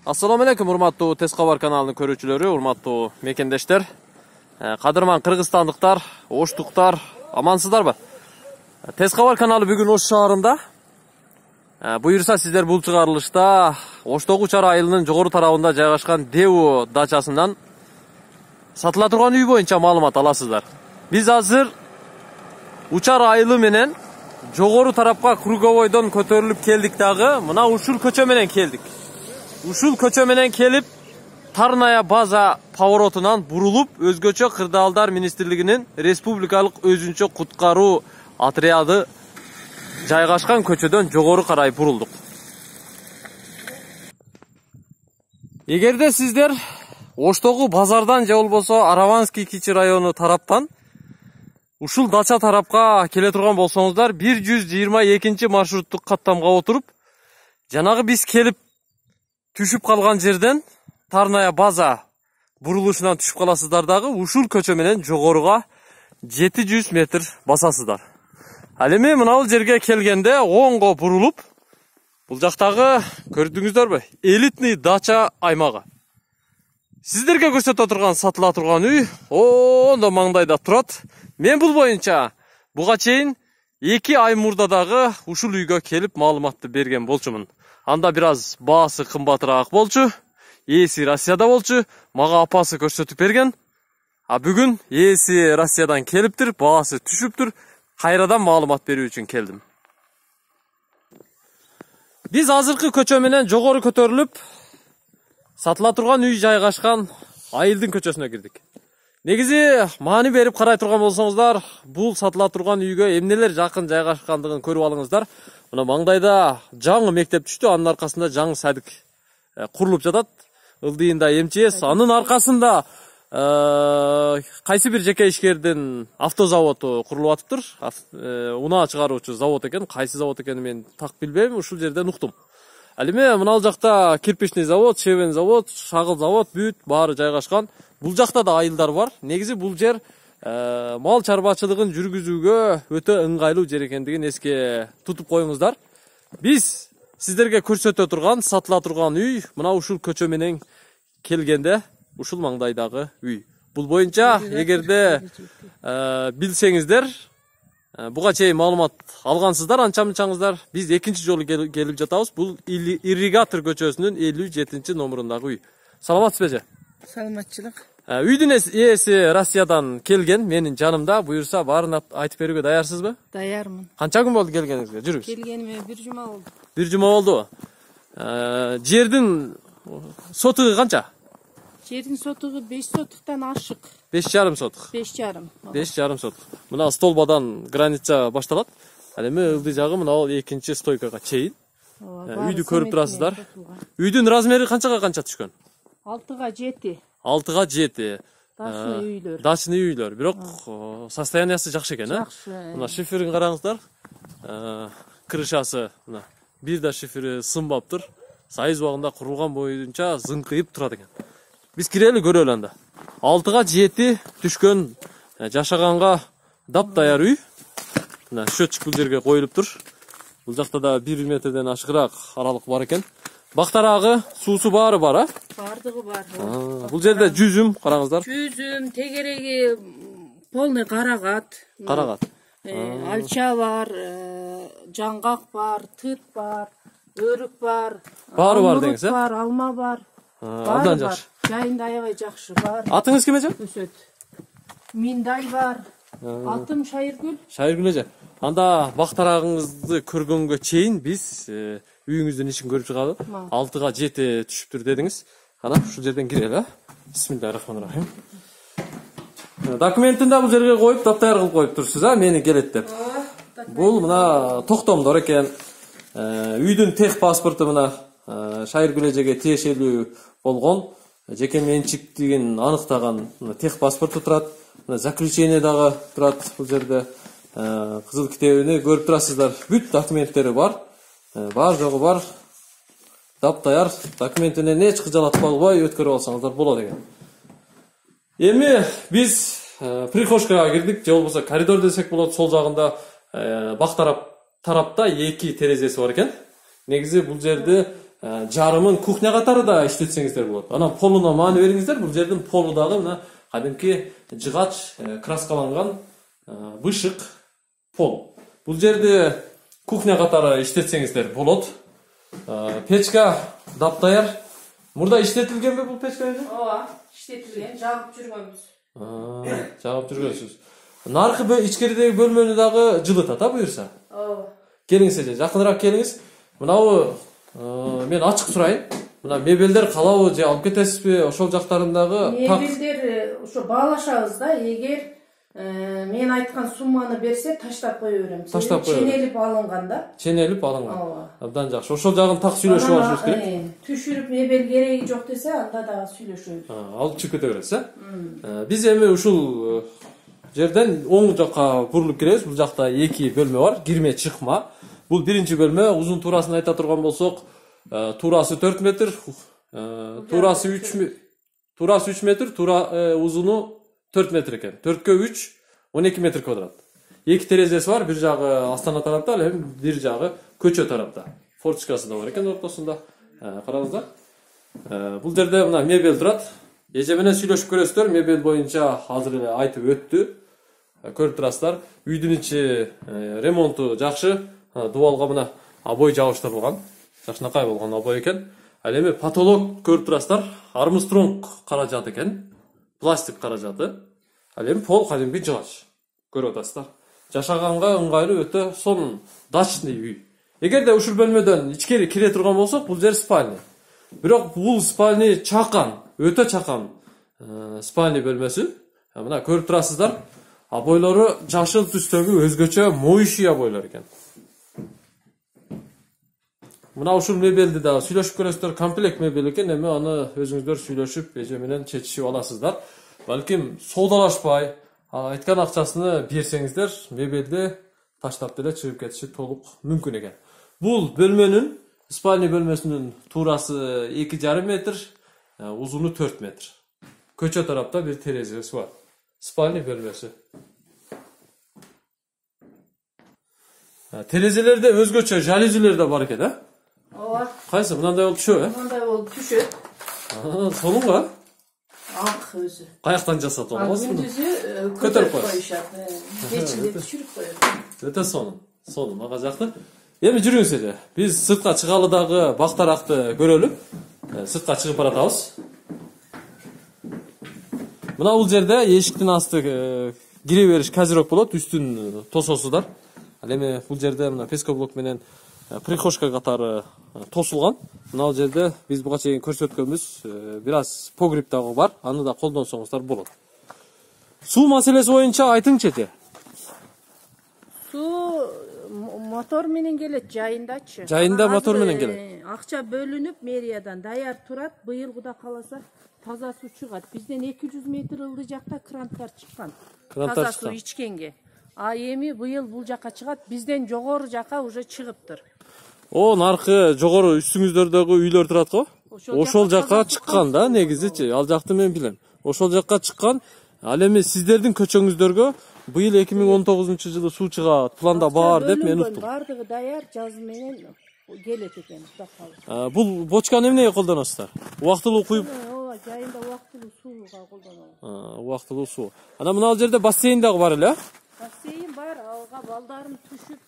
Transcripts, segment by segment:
Assalamu alaikum урматтуу Тез кабар каналынын көрүүчүлөрү, урматтуу мекендештер, кадырман кыргызстандыктар, оштуктар, амансыздарбы? Тез кабар каналы бүгүн Ош шаарында. Буюрса сиздер бул чыгарылышта Оштогу Учар айылынын жогору тарабында жайгашкан Деу дачасынан сатыла турган үй боюнча маалымат аласыздар. Биз азыр Учар айылы менен жогору тарапка круговойдон көтөрүлүп келдик дагы, мына ушул көчө менен келдик. Ушул көчө менен келип, Тарная база поворотунан бурулуп, өзгөчө кырдаалдар министрлигинин республикалык өзүнчө куткаруу отряды жайгашкан көчөдөн жогору карай бурулдук. Эгерде сиздер Оштогу базардан же болбосо Араванский Кичи району тараптан ушул дача тарапка келе турган болсоңуздар, 122 маршруттук каттамга отуруп, жанагы биз келип түшүп калган жерден Тарная база бурулушунан түшүп каласыздар дагы, ушул көчө менен жогоруга 700 метр басасыздар. Ал эми мына бул жерге келгенде оңго бурулуп, бул жактагы көрдүңүздөрбү? Элитный дача аймагы. Сиздерге көрсөтө турган сатыла турган үй ондо маңдайда турат. Мен бул боюнча буга чейин 2 ай мурда дагы ушул үйгө келип маалыматты берген болчумун. Анда бир аз баасы кымбатыраак болчу, ээси Россияда болчу, мага апасы көрсөтүп берген. А бүгүн ээси Россиядан келиптир, баасы түшүптүр. Кайрадан маалымат берүү үчүн келдим. Биз азыркы көчө менен жогору көтөрүлүп, сатыла турган үй жайгашкан айылдын көчөсүнө кирдик. Негизи маани берип карай турган болсоңуздар, бул сатыла турган үйгө эмнелер жакын жайгашкандыгын көрүп алыңыздар. Мына маңдайда жаңы мектеп түштү, анын аркасында жаңы садик курулуп жатат. Ылдыйында МЧС, анын аркасында кайсы бир жеке ишкердин автозаводу курулуп атыптыр. Унаа чыгаруучу завод экен, кайсы завод экенин мен так билбейм, ушул жерден уктум. Ал эми мына жакта кирпичный завод, шевен завод, шагыл завод бүт баары жайгашкан. Бул жакта да айылдар бар. Негизи бул жер мал чарбачылыгын жүргүзүүгө өтө ыңгайлуу жер экендигин эске тутуп коюңуздар. Биз сиздерге көрсөтө турган, сатыла турган үй мына ушул көчө менен келгенде ушул маңдайдагы үй. Бул боюнча эгерде билсеңиздер, буга чейин маалымат алгансыздар, анча-мынчаңыздар, биз экинчи жолу келип жатабыз. Бул Ирригатор көчөсүнүн 57 номурундагы үй. Саламатсызбы? Саламатчылык. Үйдүн ээси Россиядан келген, менин жанымда. Буюрса баарын айтып берүүгө даярсызбы? Даярмын. Канча күн болду келгениңизге? Жүрүңүз. Келгениме 1 жума болду. 1 жума болду. Жердин сотугу канча? Жердин сотугу 5 сотуктан ашык. 5,5 сотук. 5,5. 5,5 сотук. Мына столбадан граница башталат. Ал эми ылдый жагы мына бул экинчи стойкага чейин. Үйдү көрүп турасыздар. Үйдүн размери канчага канча түшкөн? 6га 7. 6га 7. Дачный үйлөр. Дачный үйлөр. Бирок состояниясы жакшы экен, э? Жакшы. Мына шиферин караңыздар. Крышасы мына бир да шифери сынбаптыр. Сайыз убагында курулган боюнча зыңкыйып турат экен. Биз кирели көрөлү анда. 6га 7 түшкөн, жашаганга дап-даяр үй. Мына счетчик бул жерге коюлуптур. Бул жакта да 1 метрден ашыгыраак аралык бар экен. Бактарагы, суусу баары бар, а? Бардыгы бар. Бул жерде жүзүм, караңыздар. Жүзүм, тегереги полный карагат. Карагат. Алча бар, жаңгак бар, тыт бар, өрүк бар. Баары бар деңиз, э? Бар, алма бар. Абдан жакшы. Жайында аябай жакшы бар. Атыңыз ким эже? Өсөт. Миндай бар. Атым Шайыргүл. Шайыргүл эже. Анда бактарагыңызды көргөнгө чейин биз үйүңүздүн ишин көрүп чыгалы. 6га 7 түшүптүр дедиңиз. Кана ушул жерден кирели, а? Бисмиллахиррахманиррахим. Документин да бул жерге коюп, таптаяр кылып коюп турсуз, а? Мени келет деп. Бул мына токтомдор экен. Үйдүн тех паспорту мына Шайыргүл эжеге тиешелүү болгон, жеке менчиктигин аныктаган тех паспорту турат. Заключение дагы турат бул жерде. Кызыл китебини көрүп турасыздар. Бүт документтери бар. Бар жогу бар. Таптаяр документинен эч кыжалатпай өткөрүп алсаңыздар болот экен. Эми биз прихожкага кирдик, же болбосо коридор десек болот. Сол жагында бак тарапта 2 терезеси бар экен. Негизи бул жерде жарымын кухня катары да иштетсеңиздер болот. Анан полуна маани бериңиздер. Бул жердин полу дагы мына кадимки жыгач краскаланган бышык пол. Бул жерди кухня катары иштетсеңиздер болот. Печка даптаяр. Мурда иштетилгенби бул печка? Ооба, иштетилген, жагып жүргөнбүз. Жагып жүргөнсүз. Наркы ичкеридеги бөлмөнү дагы жылытат, буюрса. Ооба. Келиңиз эже, жакыныраак келиңиз. Мынабы мен ачык сурайын. Мына мебелдер калабы же алып кетесизби? Ошол жактарындагы мебелдер ошо баалашабыз да, эгер мен айткан сумманы берсе таштап кое берем. Таштап кое берем. Ченелип алынган да. Ченелип алынган. Ооба. Абдан жакшы. Ошол жагын так сүйлөшүп алышыбыз керек. Түшүрүп мебел кереги жок десе, анда да сүйлөшөбүз. Алып чыгып кете бересиз, Биз эми ушул жерден оң жакка бурулуп келебиз. Бул жакта 2 бөлмө бар, кирме чыкма. Бул биринчи бөлмө. Узун туурасын айта турган болсок, турасы 4 метр, турасы 3 метр, узуну 4 метр экен. 4кө 3, 12 метр квадрат. 2 терезеси бар, бир жагы астана тарапта, ал эми бир жагы көчө тарапта. Форточкасы да бар экен ортосунда. Караңыздар. Бул жерде мына мебель турат. Эже менен сүйлөшүп көрөсүздөр. Мебель боюнча азыр эле айтып өттү. Көрүп турасыздар. Үйдүн ичи ремонту жакшы. Дубалга мына обой жабыштырылган. Жакшынакай болгон обой экен. Ал эми потолок көрүп турасыздар. Армстронг каражат экен. Пластик каражаты. Ал эми пол кадимки жыгач. Көрүп атасыздар. Жашаганга ыңгайлуу, өтө сонун, дачный үй. Эгерде ушул бөлмөдөн ичкери кире турган болсок, бул жер спальня. Бирок бул спальня чакан, өтө чакан спальня бөлмөсү. Мына көрүп турасыздар. Обойлору жашыл түстөгү өзгөчө моющий обойлор экен. Мына ушул мебелди да сүйлөшүп көрөсүздөр. Комплект мебель экен, эми аны өзүңүздөр сүйлөшүп, эже менен чечишип аласыздар. Балким соодалашпай, айткан акчасыны берсеңиздер, мебелди таштап деле чыгып кетиши толук мүмкүн экен. Бул бөлмөнүн, спальня бөлмөсүнүн турасы 2,5 метр, узуну 4 метр. Көчө тарапта бир терезеси бар. Спальня бөлмөсү. Терезелерде өзгөчө жалюзилер да бар экен, Ооба. Кайсы? Мындай болуп түшөбү, Мындай болуп түшөт. Сонунго? Ак өзү. Каяктан жасап аласыз? Күндүзү Көтөрүп коюшат. Кечинде түшүрүп коет. Өтө сонун, мага жакты. Эми жүрүңүз эле. Биз сыртка чыгалы дагы бактаракты көрөлү. Сыртка чыгып баратабыз. Мына бул жерде эшиктин асты кире бериш казирок болот, үстүн тососуздар. Ал эми бул жерде мына пескоблок менен прихожка катары тосулган. Мына бул жерде биз буга чейин көрсөткөнбүз, бир аз погреб дагы бар, аны да колдонсоңуздар болот. Суу маселеси боюнча айтыңчы. Суу мотор менен келет жайындачы. Жайында мотор менен келет. Акча бөлүнүп мэриядан даяр турат. Быйыл Куда кааласа таза суу чыгат. Бизден 200 метр ылдый жакта кранттар чыккан. Таза суу ичкенге. А эми быйыл бул жака чыгат. Бизден жогору жака уже чыгыптыр. Наркы жогору үстүңүздөрдөгү үйлөр турат го? Ошол жака чыккан да, негизичи. Ал жакты мен билем. Ошол жака чыккан. Ал эми сиздердин көчөңүздөргө быйыл 2019-жылы суу чыгат, планда бар деп мен уктум. Бардыгы даяр, жаз менен келет экен. Бул бочканы эмнеге колдоносуздар? Убактылуу куюп? Ооба, жайында убактылуу сууга колдонобуз. Убактылуу суу. Анан мына бул жерде бассейн дагы бар эле? Бассейн бар, алга балдарым түшүп,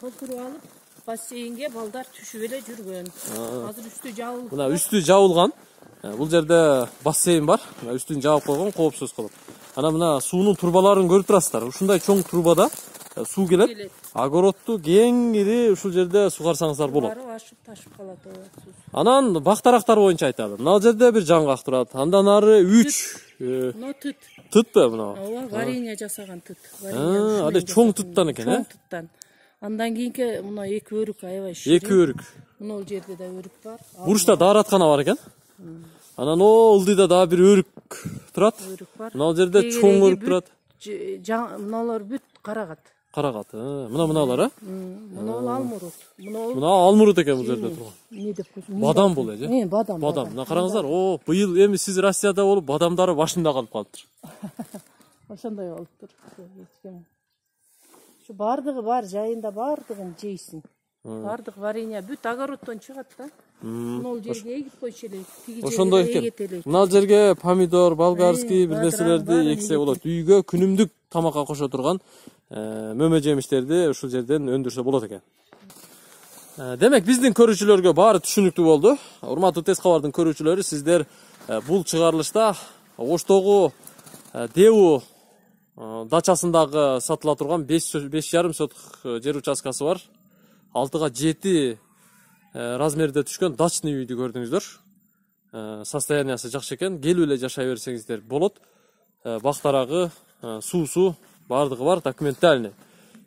толтуруп алып, бассейнге балдар түшүп эле жүргөн. Азыр үстү жабылып. Мына үстү жабылган. Бул жерде бассейн бар. Мына үстүн жабып койгон, коопсуз кылып. Анан мына суунун турбаларын көрүп турасыздар. Ушундай чоң турбада суу келет. Огородту кең ири ушул жерде сугарсаңыздар болот. Ашып ташып калат суу. Анан бактарактар боюнча айталы. Мына жерде бир жаңгак турат. Андан ары 3. Мына тыт. Тытпы мына? Ооба, варенье жасаган тыт. Али чоң тыттан экен, Чоң тыттан. Андан кийинки мына 2 өрүк аябай ширин. 2 өрүк. Мына бул жерде да өрүк бар. Бурчта даараткана бар экен. Анан ылдыйда дагы бир өрүк турат. Өрүк бар. Мына жерде чоң өрүк турат. Мыналар бүт карагат. Карагат. Мыналар, Мына алмурут. Мына алмурут экен бул жерде турган. Не деп койсун? Бадам бул эже. Бадам. Мына караңыздар. Быйыл эми сиз Россияда болуп, бадамдары башында калып калыптыр. Ошондой болуптур. Ушу бардыгы бар, жайында бардыгын жейсиң. Бардык варенье бүт огороддон чыгат да. Мол жерге эгип койчу элек. Ошондой экен. Мына жерге помидор, болгарский бир нерселерди эксе болот. Үйгө күнүмдүк тамакка кошо турган мөмө жемиштерди ушул жерден өндүрсө болот экен. Демек биздин көрүүчүлөргө баары түшүнүктүү болду. Урматтуу Тез кабардын көрүүчүлөрү, сиздер бул чыгарылышта Оштогу Деву дачасындагы сатыла турган 5,5 соток жер участкасы бар. 6га 7 размерде түшкөн дачный үйдү көрдүңүздөр. Состояниясы жакшы экен. Келип эле жашай берсеңиздер болот. Бактарагы, суусу бардыгы бар, документальный.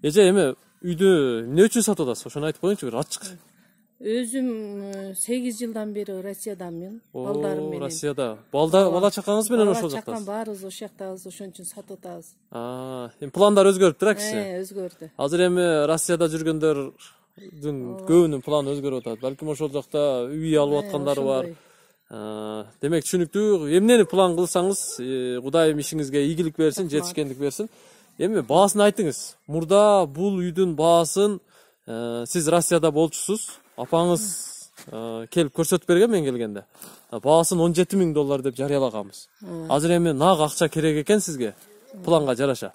Эже эми үйдү эмне үчүн сатып атасыз? Ошону айтып коюңчу бир ачык. Өзүм 8 жылдан бери Россиядамын, балдарым менен. Россияда. Бала чакаңыз менен ошол жактасыз? Бала чакам баарыбыз ошол жактабыз, ошон үчүн сатып атабыз. Эми пландар өзгөрүптүр акчы? Өзгөрдү. Азыр эми Россияда жүргөндөрдүн көбүнүн планы өзгөрүп атат. Балким ошол жакта үй алып аткандары бар. Демек түшүнүктүү. Эмнени план кылсаңыз, Кудайым ишиңизге ийгилик берсин, жетишкендик берсин. Эми баасын айтыңыз. Мурда бул үйдүн баасын сиз Россияда болчусуз. Апаңыз келип көрсөтүп берген мен келгенде. Баасын $17,000 деп жарыялаганбыз. Азыр эми нак акча керек экен сизге. Планга жараша.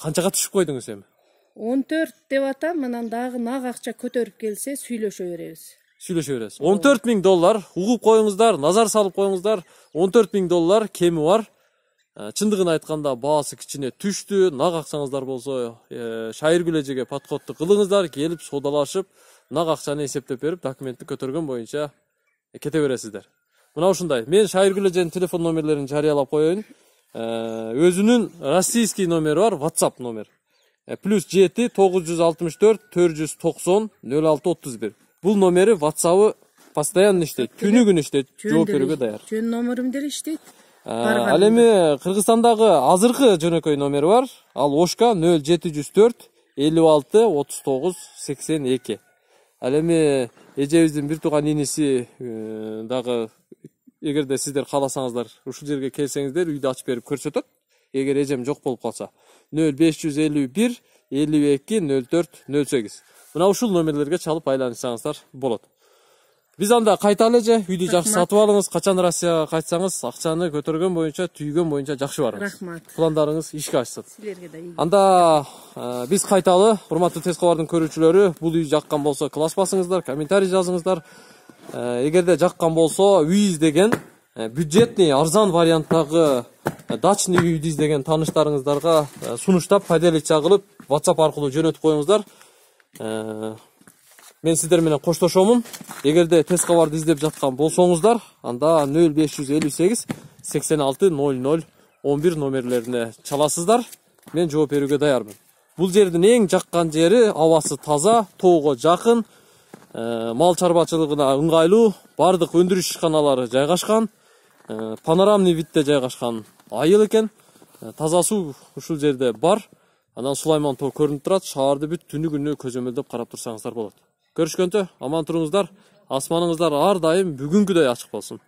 Канчага түшүп койдуңуз эми? 14 деп атам, анан дагы нак акча көтөрүп келсе сүйлөшө беребиз. $14,000 угуп коюңуздар, назар салып коюңуздар. $14,000 кеми бар. Чындыгын айтканда баасы кичине түштү. Нак акчаңыздар болсо, Шайыргүл эжеге подходту кылыңыздар, келип содалашып, нак акчаны эсептеп берип, документти көтөргөн боюнча кете бересиздер. Мына ушундай. Мен Шайыргүл эженин телефон номерлерин жарыялап коеюн. Өзүнүн российский номери бар, WhatsApp номер. +7 964 490 0631. Бул номери WhatsApp-ы постоянно иштейт, күнү күн иштейт, жооп берүүгө даяр. Жөн номерим деле иштейт. Ал эми Кыргызстандагы азыркы жөнөкөй номери бар. Ал Ошка 0704 56 39 82. Ал эми эжебиздин бир тууган иниси дагы эгерде сиздер кааласаңыздар, ушул жерге келсеңиздер, үйдү ачып берип көрсөтөт. Эгер эжем жок болуп калса, 0551 52 04 08. Мына ушул номерлерге чалып айланышсаңыздар болот. Биз анда кайталы эже, үйдү жакшы сатып алыңыз, качан Россияга кайтсаңыз, акчаны көтөргөн боюнча, түйгөн боюнча жакшы барыңыз. Рахмат. Пландарыңыз ишке ашсын. Силерге да ийгилик. Анда биз кайталы, урматтуу Тез кабардын көрүүчүлөрү, бул үй жаккан болсо класс басыңыздар, комментарий жазыңыздар. Эгерде жаккан болсо, үй издеген, бюджетный, арзан варианттагы дачный үйдү издеген тааныштарыңыздарга сунуштап, поделиться кылып, WhatsApp аркылуу жөнөтүп коюңуздар. Мен сиздер менен коштошомун. Эгерде Тез кабарды издеп жаткан болсоңуздар, анда 0558 86 00 11 номерлерине чаласыздар. Мен жооп берүүгө даярмын. Бул жердин эң жаккан жери, абасы таза, тоого жакын, мал чарбачылыгына ыңгайлуу, бардык өндүрүш ишканалары жайгашкан, панорамный видде жайгашкан айыл экен. Таза суу ушул жерде бар. Анан Сулайман тоо көрүнүп турат. Шаарды бүт түнү күнү көзөмөлдөп карап турсаңыздар болот. Көрүшкөнтө аман туруңуздар. Асманыңыздар ар дайым бүгүнкүдөй ачык болсун.